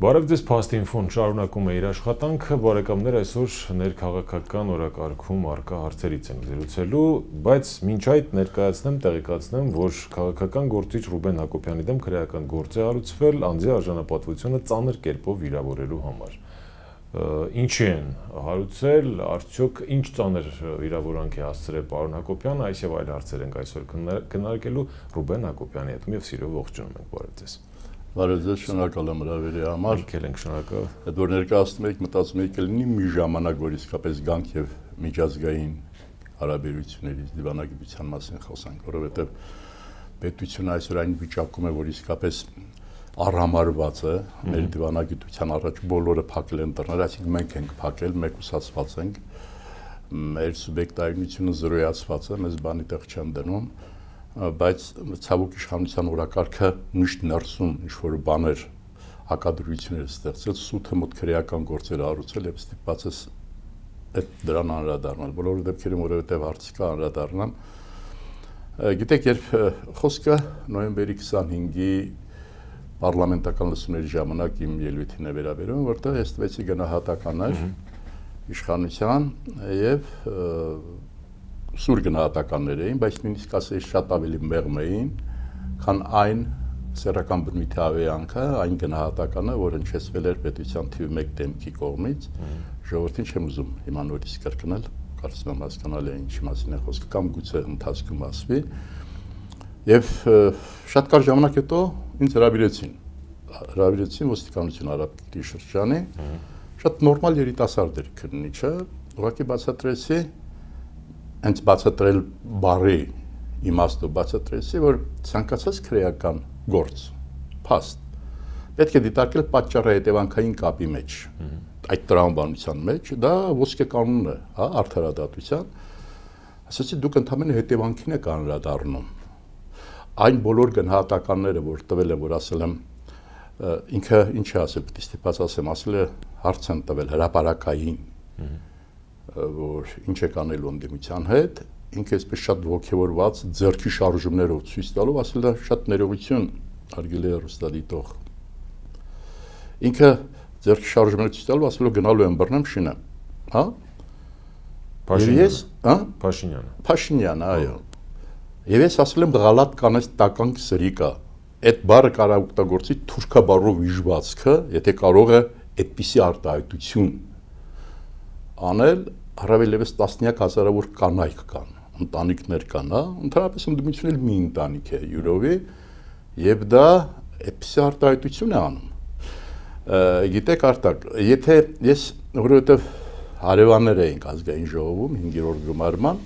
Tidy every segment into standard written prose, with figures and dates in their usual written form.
Բարև ձեզ Փաստինֆոն շարունակում է իր աշխատանքը, բարեկամներ այսօր ներքաղաքական օրակարգում առկա հարցերից ենք զրուցելու, բայց մինչ այդ ներկայացնեմ, տեղեկացնեմ, որ քաղաքական գործիչ Ռուբեն Հակոբյանի դեմ քրեական գործ է հարուցվել անձի արժանապատվությունը ծանր կերպով վիրավորելու համար։ Ինչի են հարուցել, արդյոք ինչ ծանր վիրավորանք է հասցրել պարոն Հակոբյանը, այս եւ այլ հարցեր ենք այսօր քննարկելու Ռուբեն Հակոբյանի հետ։ Եվ սիրով ողջունում ենք, բարև ձեզ։ Բարև ձեզ, շնորհակալ եմ հրավերի համար։ Եկել ենք, շնորհակալ։ Այդ որ ներկայացնում եք, մտածում եք լինի մի ժամանակ, որ իսկապես գանք եւ միջազգային հարաբերություններից դիվանագիտության մասին խոսանք, որովհետեւ պետությունը այսօր այն վիճակում է, որ իսկապես առհամարված է մեր դիվանագիտության առաջ բոլորը փակել են դռները, այսինքն մենք ենք փակել, մեկուսացված ենք, մեր սուբյեկտայինությունը զրոյացված է, մեզ բանի տեղ չեն դնում, բայց ցավոք իշխանության օրակարգը միշտ ներսում ինչ-որ բաներ հակադրություններ ստեղծել, սութը մոտ քրեական գործեր հարուցել եւ ստիպված է այդ դրան անդրադառնալ։ Բոլոր դեպքերում, որովհետեւ հարցի կա անդրադառնամ, գիտեք, երբ խոսքը նոյեմբերի 25-ի պարլամենտական լսումների ժամանակ իմ ելույթին է վերաբերում, որտեղ ես տվեցի գնահատականներ իշխանության եւ սուր գնահատականներ էին, բայց նույնիսկ ասես շատ ավելի մեղմ էին, քան այն սեռական բնույթի ավերանքը, այն գնահատականը, որ հնչեցվել էր պետության թիվ 1 դեմքի կողմից, ժողովրդին չեմ ուզում հիմա նորից կրկնել, կարծում եմ հասկանալի է ինչի մասին է խոսքը, կամ գուցե ընթացքում ասվի, եւ շատ կարճ ժամանակ հետո ինձ հրավիրեցին ոստիկանություն Արաբկիրի շրջանի, շատ նորմալ երիտասարդ էր քննիչը, ուղղակի բացատրեցի հենց բացատրել բարի իմաստով բացատրեցի, որ ցանկացած քրեական գործ, փաստ, պետք է դիտարկել պատճառահետևանքային կապի մեջ, այդ տրամաբանության մեջ, դա ոսկե կանոնն է, հա, արդարադատության, ասացի դուք ընդհանրապես հետևանքին եք անդրադառնում, այն բոլոր գնահատականները, որ տվել եմ, որ ասել եմ, ինքը ինչ է ասել, պետք է ստիպված ասել է հարց են տվել հրապարակային, որ ինչ է կանելու ընդդիմության հետ, ինքը այսպես շատ ողջավորված ձեռքի շարժումներով ցույց տալով ասել է շատ ներողություն արգելի է ռուստադիտող։ Ինքը ձեռքի շարժումները ցույց տալով ասել է գնալու եմ բռնեմ շինը, հա? Ես, հա? Փաշինյանը, այո։ Եվ ես ասել եմ գալատ կանես տականք սրիկա։ Այդ բառը կարա օգտագործի թուրքաբառով իժվածքը, եթե կարող է այդպիսի արտահայտություն անել, առավելևս տասնյակ հազարավոր կանայք կան, ընտանիքներ կան, հա, ընդհանրապես ընդդիմությունը էլ մի ընտանիք է յուրովի, եւ դա այդպիսի արտահայտություն է անում։ Գիտեք Արտակ, եթե ես որովհետեւ հարևաններ էինք ազգային ժողովում 5-րդ գումարման,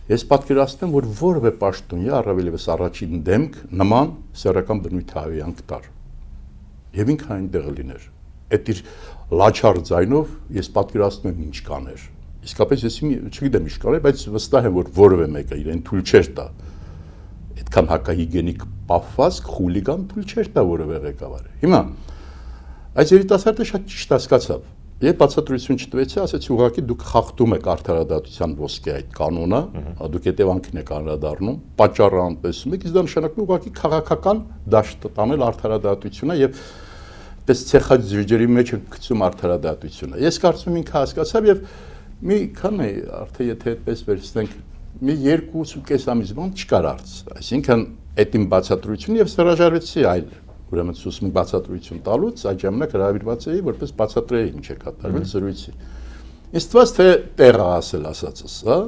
ես պատկերացնում որ որևէ պաշտոնյա առավելևս առաջին դեմք նման սեռական բնույթի ավերանք տար։ Եվ ինքը այնտեղ լիներ։ Այդ իր լաչար ձայնով ես պատկերացնում եմ ինչ կաներ։ Իսկապես ես չգիտեմ ինչ կաներ, բայց վստահ եմ որ որևէ մեկը իրեն թույլ չէր տա։ Այդքան հակահիգենիկ պահվածք, խուլիգան թույլ չէր տա որևէ ղեկավարը։ Հիմա այս երիտասարդը շատ ճիշտ հասկացավ։ Երբ բացատրություն չտվեցի, ասեցի ուղղակի դուք խախտում եք արդարադատության ոսկե այդ կանոնը, դուք հետևանքին եք անդրադառնում, պատճառը անտեսում եք, իսկ դա նշանակում է ուղղակի քաղաքական դաշտ տանել արդարադատությունը եւ պես ցեխած ջրերի մեջ գցում արդարադատությունը։ Ես կարծում եմ ինքը հասկացավ եւ մի քանի արդեն եթե այդպես վերցնենք, մի 2.5 ամիս բան չկար արծ։ Այսինքն այդ իմ բացատրությունը եւ հրաժարվեցի այլ ուրեմն ցույց բացատրություն տալուց այդ ժամանակ հրավիրված էի որպես բացատրեի ինչ է կատարվել զրույցի։ Ինձ թվաց թե տեղը ասել ասածս, հա։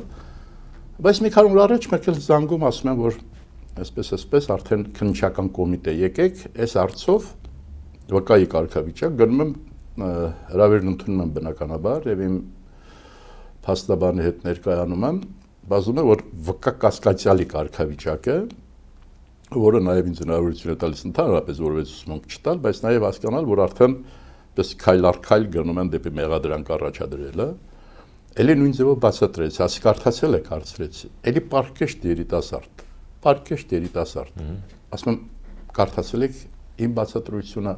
Բայց մի քանի օր առաջ մեկ էլ զանգում ասում են որ այսպես արդեն քննչական կոմիտե եկեք, այս հարցով վկայի կարգավիճակ գնում եմ հրավերն ընդունում եմ բնականաբար եւ իմ փաստաբանի հետ ներկայանում եմ, բազում է որ վկա կասկածյալի կարգավիճակ է որը նաև ինձ հնարավորություն է տալիս ընդհանրապես որևէ ուսումնք չտալ, բայց նաև հասկանալ, որ արդեն պես քայլ առ քայլ գնում են դեպի մեղադրանք առաջադրելը, ելի նույն ձևով բացատրեց, ասի կարդացել եք հարցրեցի, ելի պարկեշտ երիտասարդ, ասում եմ կարդացել եք իմ բացատրությունը,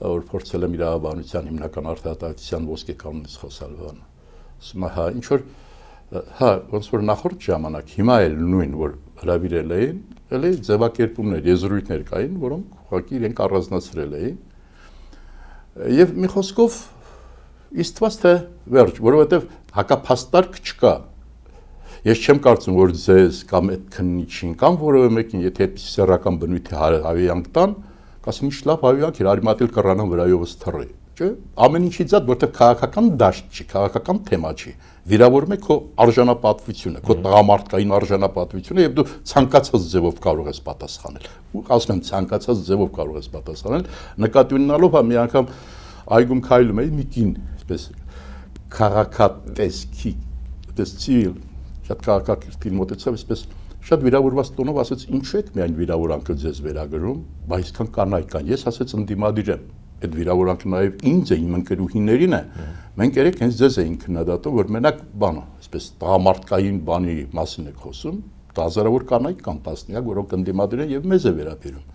որ փորձել եմ իրավաբանության հիմնական արդարադատության ոսկե կանոնից խոսալ բան, ասում հա ինչ որ հա ոնց որ նախորդ ժամանակ հիմա էլ նույն որ հրավիրել էին էլի ձևակերպումներ, եզրույթներ կային, որոնք ուղղակի իրենք առանձնացրել էին Եվ մի խոսքով իստված թե վերջ, որովհետև հակափաստարկ չկա։ Ես չեմ կարծում, որ ձեզ կամ այդ քննիչին կամ որևէ մեկին, եթե այդպես սեռական բնույթի հավիյանք տան, կասեմ ինչ լավ հավիյանք էր, արիմատել կռանան վրայովս թռի, չէ՞։ Ամեն ինչից այդ, որտեղ քաղաքական դաշտ չի, քաղաքական թեմա չի։ Վիրավորում է քո արժանապատվությունը, քո տղամարդկային արժանապատվությունը եւ դու ցանկացած ձևով կարող ես պատասխանել։ Ու ասում եմ ցանկացած ձևով կարող ես պատասխանել, նկատի ունենալով մի անգամ այգում քայլում էի մի կին, այսպես քաղաքատեսքի, այդպես ցիվիլ շատ քաղաքակիրթին մոտեցավ, այսպես շատ վիրավորված տոնով ասաց ինչու եք միայն վիրավորանքը ձեզ վերագրում, բայց այսքան կանայք կան։ Ես ասաց ընդդիմադիր եմ։ Այդ վիրավորանքը նաև ինձ է, իմ ընկերուհիներին է։ Մենք երեք հենց ձեզ էինք քննադատում, որ մենակ բանը, այսպես տղամարդկային բանի մասին եք խոսում, հազարավոր կանայք կան տասնյակ, որոնք ընդդիմադիր են եւ մեզ է վերաբերում։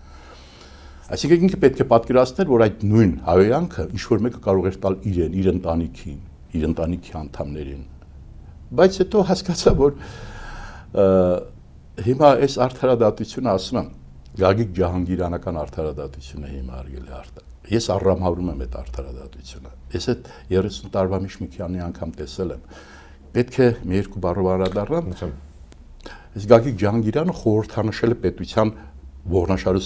Այսինքն ինքը պետք է պատկերացնել, որ այդ նույն հավիյանքը ինչ որ մեկը կարող էր տալ իրեն, իր ընտանիքին, իր ընտանիքի անդամներին։ Բայց հետո հասկացա, որ հիմա այս արդարադատությունը ասում եմ, Գագիկ Ջահանգիրանական արդարադատությունը հիմա արգել է Ես առամհարում եմ այդ արդարադատությունը։ Ես այդ 30 տարվա մեջ մի քանի անգամ տեսել եմ։ Պետք է մի երկու բառով անդրադառնամ։ Այս Գագիկ Ջահանգիրյանը խորհրդանշել է պետության ողնաշարը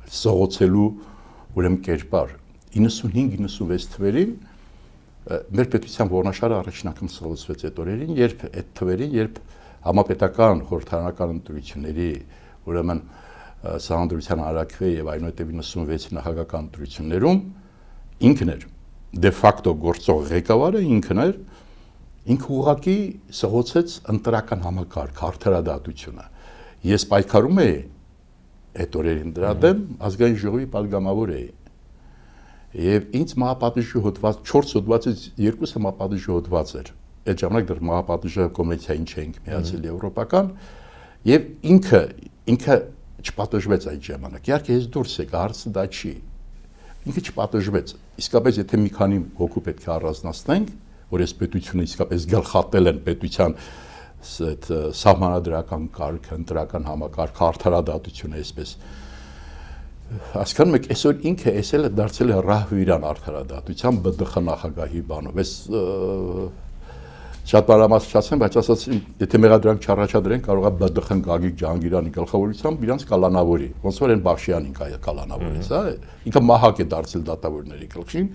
սղոցելու ուրեմն կերպար 95-96 թվերին մեր պետության ողնաշարը առաջին անգամ սղոցվեց այդ օրերին, երբ այդ թվերին, երբ համապետական խորհրդարանական ընտրությունների ուրեմն Սահմանադրության հարակվե եւ այնուհետեւ 96-ի նախագահական ընտրություններում ինքն էր դե ֆակտո գործող ղեկավարը ինքն էր, ինքը ուղղակի սղոցեց ընտրական համակարգ, արդարադատությունը։ Ես պայքարում էի այդ օրերին դրա դեմ, ազգային ժողովի падգամավոր էի։ Եվ ինձ մահապատիժի հոդված 4 հոդվածից 2-ը մահապատիժի հոդված էր։ Այդ ժամանակ դեռ մահապատիժը կոնվենցիային չէինք միացել եվրոպական, եւ ինքը չպատժվեց այդ ժամանակ։ Իհարկե ես դուրս եկա, հարցը դա չի։ Ինքը չպատժվեց։ Իսկապես եթե մի քանի հոգու պետք է առանձնացնենք, որ այս պետությունը իսկապես գլխատել են պետության այդ սահմանադրական կարգ, ընտրական համակարգ, արդարադատությունը այսպես հասկանում եք, այսօր ինքը էսել է դարձել է ռահվիրան արդարադատության ԲԴԽ նախագահի բանով։ Այս շատ բարամասնացեմ, բայց ասած եթե մեղադրանք չառաջադրեն, կարող է ԲԴԽ-ն Գագիկ Ջահանգիրյանի գլխավորությամբ իրանց կալանավորի։ Ոնց որ այն Բախշյանին կալանավորեց, հա։ Ինքը մահակ է դարձել դատավորների գլխին։